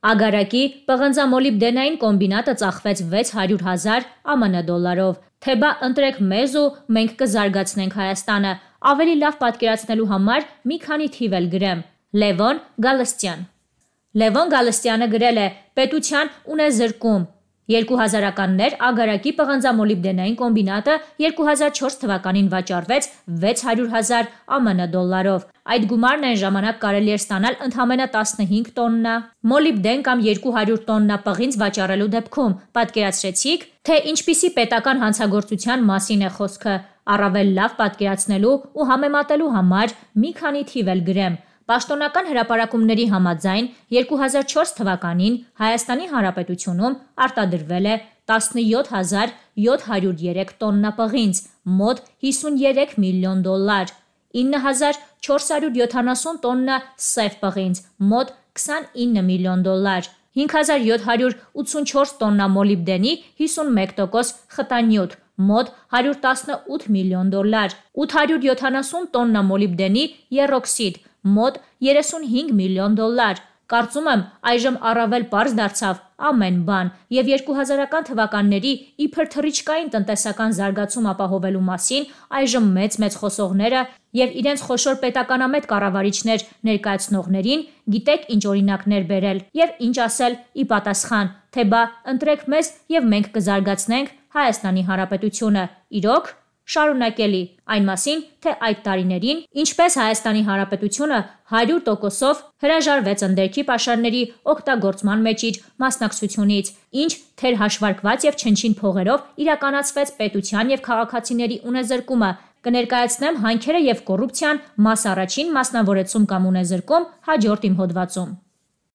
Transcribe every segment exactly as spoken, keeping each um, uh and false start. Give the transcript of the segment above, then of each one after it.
Ագարակի պղնձամոլիբդենային կոմբինատը ծախվեց վեց հարյուր հազար ԱՄՆ դոլարով։ Թե բա ընտրեք մեզ ու մենք կզարգացնենք Հայաստանը։ Ավելի լավ պատկերացնելու համար մի քանի թիվ էլ գրեմ։ Լևոն Գալստյան։ Լևոն Գալստյանը գրել է. պետության ունեզրկում։ երկու հազարականներ Ագարակի պղնձամոլիբդենային կոմբինատը երկու հազար չորս թվականին վաճառվեց վեց հարյուր հազար ԱՄՆ դոլարով։ Այդ գումարն այն ժամանակ կարելի էր ստանալ ընդամենը տասնհինգ տոննա մոլիբդեն կամ երկու հարյուր տոննա պղինձ վաճառելու դեպքում։ Պատկերացրեցիք, թե ինչպիսի պետական հանցագործության մասին է խոսքը։ Առավել լավ պատկերացնելու ու համեմատելու համար մի քանի թիվ էլ գրեմ։ Պաշտոնական հրապարակումների համաձայն երկու հազար չորս թվականին Հայաստանի Հանրապետությունում արտադրվել է տասնյոթ հազար յոթ հարյուր երեք տոննա պղինձ, մոտ հիսունյոթ միլիոն դոլար, ինը հազար չորս հարյուր յոթանասուն տոննա սև պղինձ, մոտ քսանինը միլիոն դոլար, հինգ հազար յոթ հարյուր ութսունչորս տոննա մոլիբդենի հիսունմեկ տոկոս խտանյութ, մոտ հարյուր տասնութ միլիոն դոլար, ութ հարյուր յոթանասուն տոննա մոլիբդենի եռօքսիդ, մոտ երեսունհինգ միլիոն դոլար։ Կարծում եմ այժմ առավել պարզ դարձավ ամեն բան եւ երկու հազարական թվականների իբր թռիչքային տնտեսական զարգացում ապահովելու մասին այժմ մեծ-մեծ խոսողները եւ իրենց խոշոր պետականամետ կառավարիչներ ներկայացնողներին գիտեք ինչ օրինակներ բերել եւ ինչ ասել ի պատասխան, թե բա ընտրեք մեզ եւ մենք կզարգացնենք Հայաստանի Հանրապետությունը։ Իրոք շարունակելի այն մասին, թե այդ տարիներին ինչպես Հայաստանի Հանրապետությունը հարյուր տոկոսով հրաժարվեց ընդերքի պաշարների օգտագործման մեջ իր մասնակցությունից, ինչ թերհաշվարկված եւ չնչին փողերով իրականացվեց պետության եւ քաղաքացիների ունեզրկումը։ Կներկայացնեմ հանքերը եւ կոռուպցիան մաս առաջին մասնավորեցում կամ ունեզրկում հաջորդ իմ հոդվածում։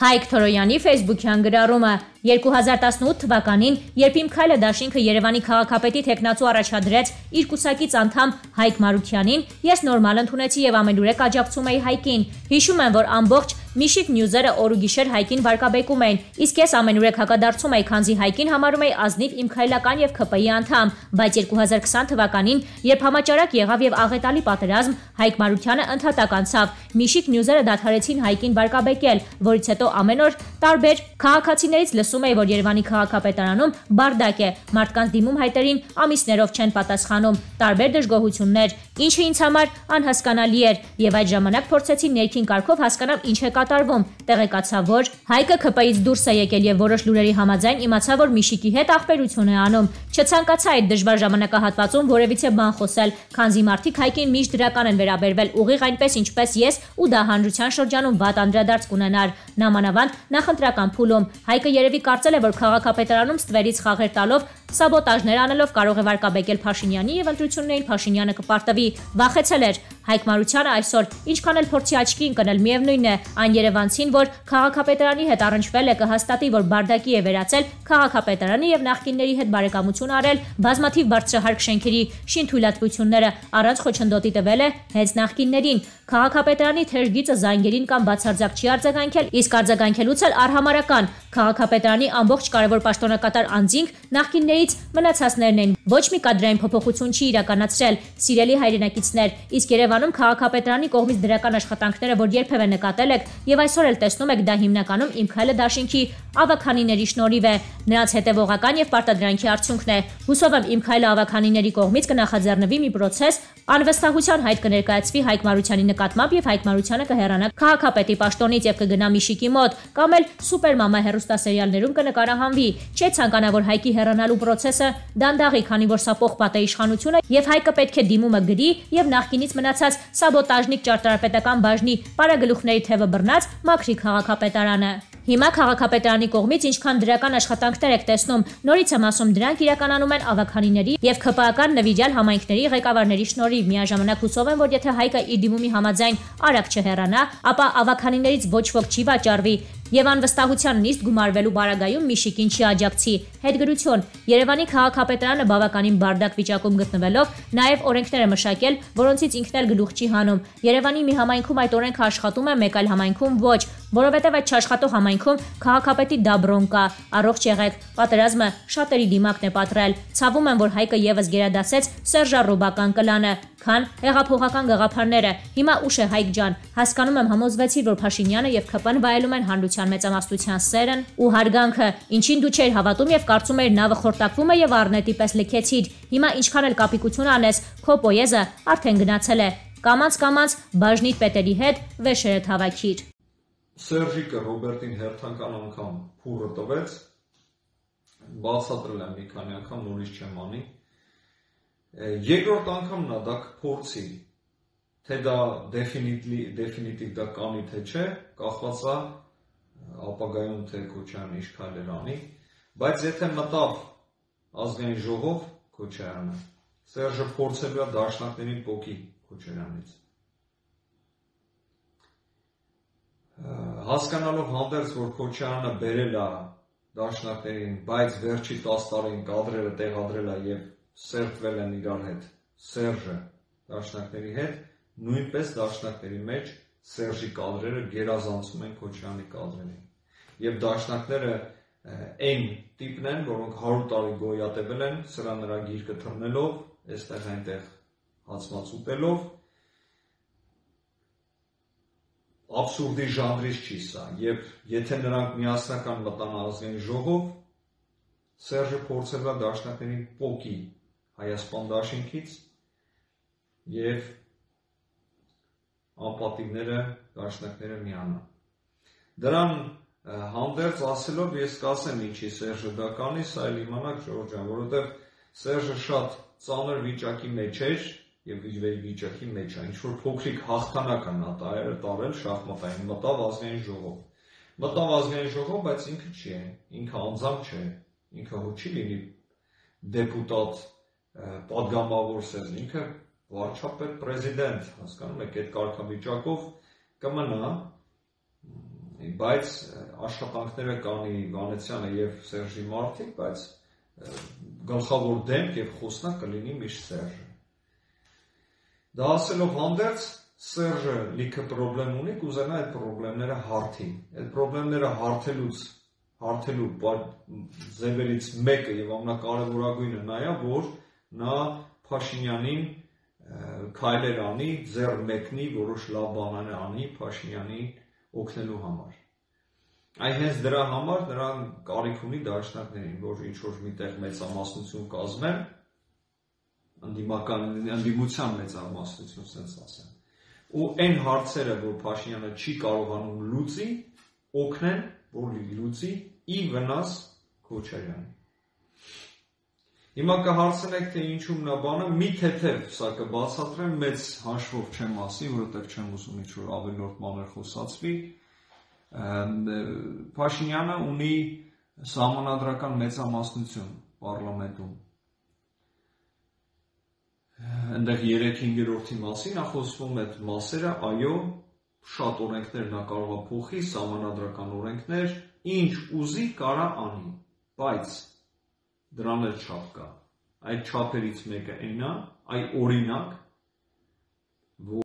Հայկ Թորոյանի ֆեյսբուքյան գրառումը երկու հազար տասնութ թվականին, երբ Իմ քայլը դաշինքը Երևանի քաղաքապետի թեկնածու առաջադրեց իր կուսակից անդամ Հայկ Մարուքյանին, ես նորմալ ընդունեցի եւ ամենուրեք աջակցում էի Հայկին։ Հիշում եմ, որ ամբողջ Միշիկ Նյուզերը օր ու գիշեր Հայկին վարկաբեկում էին, իսկ ես ամենուրեք հակադարձում էի, քանզի Հայկին համարում էի ազնիվ իմ քայլական եւ ՔՊ-ի անդամ, բայց երկու հազար քսան թվականին, երբ համաճարակ եղավ եւ աղետալի պատերազմ, Հայկ Մարուքյանը ընդհատակ անցավ։ Միշիկ Նյուզերը դադարեցին Հայկին վարկաբեկել, որից հետո ամեն օր տարբեր քաղաքացիներից լսում էի, որ Երևանի քաղաքապետարանում բարդակ է, մարդկանց դիմում հայտերին ամիսներով չեն պատասխանում, տարբեր դժգոհություններ, ինչը ինձ համար անհասկանալի էր եւ այդ ժամանակ փորձեցի ներքին կարգով հասկանալ ինչ է կատարվում։ Տեղեկացա, որ Հայկը ՔՊ-ից դուրս է եկել եւ որոշ լուրերի համաձայն իմացա, որ Միշիկի հետ ախպերություն է անում։ Չցանկացա այդ դժվար ժամանակահատվածում որևիցե բան խոսել, քանզի մարդիկ Հայկին միշտ դրական են վերաբերվել, ուղիղ այնպես ինչպես ես, ու դա հանրության շրջանում վատ անդրադարձ կունենար։ Նամանավանդ նախընտրական փուլում Հայկը երևի կարծել է, որ քաղաքապետարանում ստվերից խաղեր տալով, սաբոտաժներ անելով կարող է վարկաբեկել Փաշինյանի եւ ընտրություններին Փաշինյանը կպարտվի։ Վախեցել էր։ Հայկ Մարուքյանը այսօր ինչքան էլ փորձի աչքի ընկնել, միևնույն է, այն երևանցին, որ քաղաքապետարանի հետ առնչվել է, կհաստատի, որ բարդակի է վերածել քաղաքապետարանի եւ նախկինների հետ բարեկամություն արել, բազմաթիվ բարձրահարկ շենքերի շինթույլատվությունները առանց խոչընդոտի տվել է հենց նախկիններին։ Քաղաքապետարանի թեժգիծը զանգերին կամ բացարձակ չի արձագանքել, իսկ արձագանքելուց էլ արհամարական։ Քաղաքապետարանի ամբողջ կարևոր պաշտոնակատար անձինք նախկիններից մնացածներն են։ Ոչ մի կադրային փոփոխություն չի իրականացրել, սիրելի հայրենակիցներ, իսկ Երևանում քաղաքապետարանի կողմից դրական աշխատանքները, որ երբևէ նկատել եք եւ այսօր էլ տեսնում եք, դա հիմնականում Իմ քայլը դաշինքի ավագանիների շնորհիվ է, նրանց հետևողական եւ պարտադրանքի արդյունքն է։ Հուսով եմ Իմ քայլը ավագանիների կողմից կնախաձեռնվի մի պրոցես, անվստահության հայտ կներկայացվի Հայկ Մարուքյանի նկատմամբ եւ Հայկ Մարուքյանը կհեռանա քաղաքապետի պաշտոնից եւ կգնա Միշիկի մոտ, կամ էլ Սուպերմամա հեռուստասերիալներում կնկարահանվի։ Չէ ցանկանա, որ Հայկի հեռանալու պրոցեսը դանդաղի, քանի որ սա պողպատ է իշխանությունը եւ Հայկը պետք է դիմումը գրի եւ նախկինից մնացած սաբոտաժնիկ ճարտարապետական բաժնի պարագլուխների թևը բռնած մաքրի քաղաքապետարանը։ Հիմա քաղաքապետարանի կողմից ինչքան դրական աշխատանքներ եք տեսնում, նորից եմ ասում, դրանք իրականանում են ավագանիների եւ ՔՊ-ական նվիրյալ համայնքների ղեկավարների շնորհիվ։ Միաժամանակ հուսով եմ, որ եթե Հայկը իր դիմումի համաձայն արագ չհեռանա, ապա ավագանիներից ոչ ոք չի վաճառվի եւ անվստահության նիստ գումարվելու բարագայում Միշիկին չի աջակցի։ Հետգրություն. Երևանի քաղաքապետարանը բավականին բարդակ վիճակում գտնվելով նաեւ օրենքներ է մշակել, որոնցից ինքն էլ գլուխ չի հանում։ Երևանի մի համայնքում այդ օրենքը աշխատում է, մեկ այլ համայնքում ոչ, որովհետեւ այդ չաշխատող համայնքում քաղաքապետի դաբրոն կա։ Առողջ եղեք, պատերազմը շատերի դիմակն է պատռել։ Ցավում եմ, որ Հայկը եւս գերադասեց սերժառոբական կլանը, քան հեղափոխական գաղափարները։ Հիմա ուշ է Հայկ ջան, հասկանում եմ, համոզվեցի, որ Փաշինյանը եւ ՔՊ-ն վայելում են հանրության Հանրապետության մեծամասնության սերն ու հարգանքը, ինչին դու չէր հավատում եւ կարծում էիր նավը խորտակվում է եւ առնետի պես լքեցիր։ Հիմա ինչքան էլ կապիկություն անես, քո պոեզը արդեն գնացել է։ Կամաց-կամաց բաժնիդ պետերի հետ վեշերդ հավաքիր։ Սերժիկը Ռոբերտին հերթական անգամ փուրը տվեց, բացատրել եմ մի քանի անգամ, նորից չեմ անի։ Երկրորդ անգամ նա դա կփորձի, թե դա դեֆինիտիվ դա կանի թե չէ, կախված է ապագայում թե Քոչարյանը ինչ քայլեր անի, բայց եթե մտավ ազգային ժողով Քոչարյանը, Սերժը փորձելու է դաշնակներին պոկի Քոչարյանից։ Հասկանալով հանդերձ, որ Քոչարյանը բերել է դաշնակներին, բայց վերջի տասը տարին կադրերը տեղադրել է եւ սերտվել են իրար հետ Սերժը դաշնակների հետ, նույնպես դաշնակների մեջ Սերժի կադրերը գերազանցում են Քոչարյանի կադրերին։ Եվ դաշնակները այն տիպն են, որոնք հարյուր տարի գոյատևել են, սրա նրա գիրկը թռնելով, այստեղ այնտեղ հացմաց ուտելով, աբսուրդի ժանրից չի սա, եւ եթե նրանք միասնական մտան ազգային ժողով, Սերժը փորձել է դաշնակներին պոկի Հայաստան դաշինքից եւ անպատիվները դաշնակները միանան։ Դրան հանդերձ ասելով ես կասեմ ինչի Սերժը դա կանի, սա էլ իմանաք Ժորժ ջան, որովհետեւ Սերժը շատ ծանր վիճակի մեջ էր եւ վիճակի մեջ է, ինչ որ փոքրիկ հաղթանակ է նա տարել շախմատային, մտավ ազգային ժողով։ Մտավ ազգային ժողով, բայց ինքը չի է, ինքը անձամբ չէ, ինքը հո չի լինի դեպուտատ, պատգամավոր Սերժ, ինքը վարչապետ, պրեզիդենտ, հասկանում եք, այդ կարգավիճակով կմնա, բայց աշխատանքները կանի Վանեցյանը եւ Սերժի մարդիկ, բայց գլխավոր դեմք եւ խոսնակ կլինի միշտ Սերժը։ Դա ասելով հանդերձ, Սերժը լիքը պրոբլեմ ունի, կուզենա այդ պրոբլեմները հարթի։ Այդ պրոբլեմները հարթելուց, հարթելու ձևերից մեկը եւ ամենակարևորագույնը նա է, որ նա Փաշինյանին քայլեր անի, ձեռ մեկնի, որոշ լավ բաներ անի Փաշինյանին օգնելու համար։ Այ հենց դրա համար նրան կարիք ունի դաշնակներին, որ ինչ-որ միտեղ մեծամասնություն կազմեն, ընդդիմական ընդդիմության մեծամասնություն, ասենց ասեմ։ Ու այն հարցերը, որ Փաշինյանը չի կարողանում լուծի, օգնեն, որ լուծի ի վնաս Քոչարյանի։ Հիմա կհարցնեք, թե ինչու նա բանը, մի թեթև սա կբացատրեմ, մեծ հաշվով չեմ ասի, որովհետև չեմ ուզում ինչ-որ ավելորդ մանր խոսացվի։ Փաշինյանը ունի սահմանադրական մեծամասնություն պարլամենտում։ Այնտեղ երեք հինգերորդի մասին է խոսվում այդ մասերը, այո, շատ օրենքներ նա կարող է փոխի, սահմանադրական օրենքներ, ինչ ուզի կարա անի, բայց դրան էլ չափ կա։ Այդ չափերից մեկը այն է, այ օրինակ,